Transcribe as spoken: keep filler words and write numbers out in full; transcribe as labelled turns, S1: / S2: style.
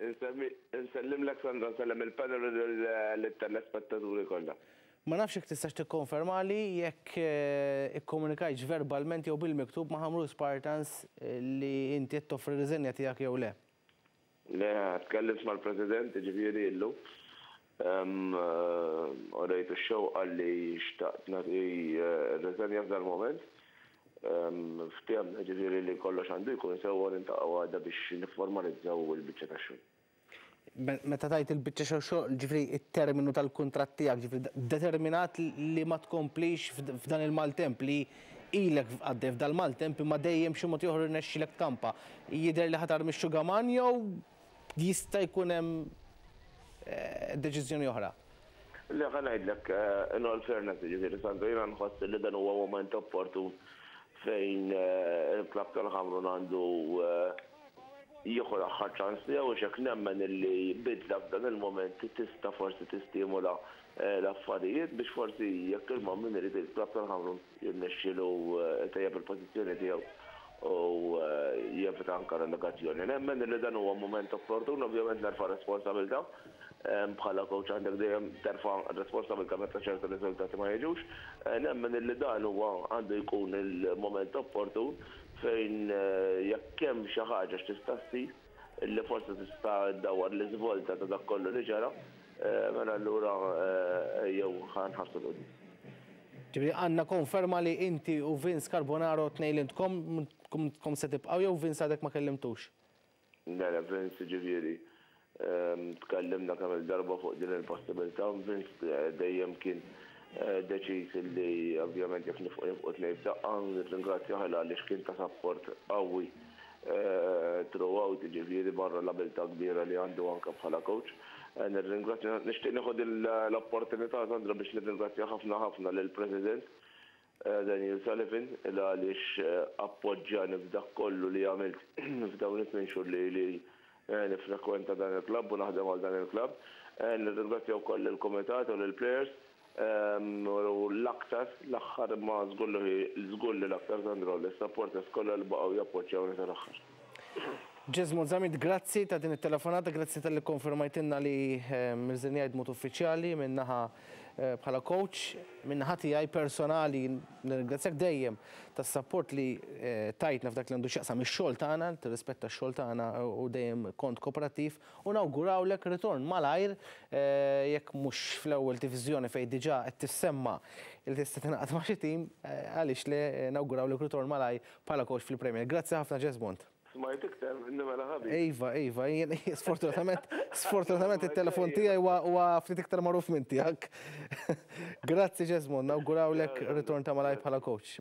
S1: Insellimlek, Sandro, nsellem il-panel u l-telespettaturi kollha.
S2: Ma nafx jekk tistax tikkonferma li jekk ikkomunikajtx verbalment jew bil-miktub ma' Ħamrun Spartans li inti qed toffri riżenja tiegħek jew le.
S1: Le, tkellimt mal-President, ġifieri, illum. Urejtu x-xewqa li xtaqt nagħti riżenja f'dal moment. Ftehemna, ġifieri, li kollox għandu jkun sewwa, niltaqgħu għada biex nifformalizzaw il-biċċa tax-xogħol.
S2: Meta tgħid il-biċċa xogħol, ġifieri it-terminu tal-kuntratt tiegħek, ġifieri determinat li ma tkomplix f'dan il-maltemp li ilek għaddej f'dal-maltemp, imma dejjem xi mod ieħor irnexxilek tkampa. Jidher li ħa tarmi x-xugaman jew jista' jkun hemm deċiżjoni oħra?
S1: Le, ħa ngħidlek, in all fairness, ġifieri, Sandro, jiena nħoss li dan huwa moment opportun fejn il-klab tal-Ħamrun għandu jieħu l-aħħar ċans tiegħu, u hekk nemmen illi bidla f'dan il-moment tista' forsi tistimula l-affarijiet biex forsi, jekk il-moment irid, il-klab tal-Ħamrun jirnexxielu tejjeb il-pożizzjoni tiegħu u jevita anka relegazzjoni. Nemmen li dan huwa moment opportun. Ovvjament nerfa' responsabilità, bħala coach għandek dejjem terfa' responsabilità meta ċertu riżultati ma jiġux. Nemmen li dan huwa għandu jkun il-moment opportun fejn jekk hemm xi ħaġa x'tista' ssir li forsi tista' ddawwar l-iżvolta ta' dak kollu li ġara, mela allura jew ħa nħarsu 'l quddiem.
S2: Ġifieri għandna konferma li inti u Vince Carbonaro tnejn li intkom se tibqgħu, jew Vince għadek ma kellimtux?
S1: Le, le, Vince, ġifieri, tkellimna kemm il-darba fuq din il-possibilità. Vince dejjem kien deċiż li ovvjament jekk nifqu, nifqu tnejn f'daqqa. Nirringrazzjah għaliex kien ta' support qawwi throughout, ġifieri barra l-abilità kbira li għandu anke bħala coach. Nirringrazzja, nixtieq nieħu l-opportunità, Sandro, biex nirringrazzja ħafna ħafna lill-President Daniel Sullivan għaliex appoġġjani f'dak kollu li għamilt f'dawn it-tmien xhur li li nifrekwenta dan il-klabb u naħdem għal dan il-klabb. Nirringrazzja wkoll il-kumitat u lill-players u l-aktar, l-aħħar ma żgur li l-aktar, Sandro, l-supporters kollha li baqgħu jappoġġjawni tal-aħħar.
S2: Jesmond Zammit, grazzi ta' din it-telefonata, grazzi talli kkonfermajtilna li rriżenjajt b'mod uffiċjali minnaħa bħala coach. Minnaħa tiegħi personali nirringrazzjak dejjem tas-support li tajtna f'dak li għandu x'jaqsam ix-xogħol tagħna, tirrispetta x-xogħol tagħna u dejjem kont kooperattiv, u nawgurawlek ritorn malajr, jekk mhux fl-ewwel diviżjoni fejn diġà qed tissemma li tista' tingħaqad ma' xi tim, għaliex le, nawgurawlek ritorn malajr bħala coach fil-Premier. Grazzi ħafna, Jesmond.
S1: Smajt iktar minni mela, ħabib.
S2: Iva, Iva, sfortunatament, sfortunatament il-telefon tiegħi huwa ftit iktar magħruf minn tiegħek. Grazzi, Jesmond, nawgurawlek ritorn ta' malajr bħala coach.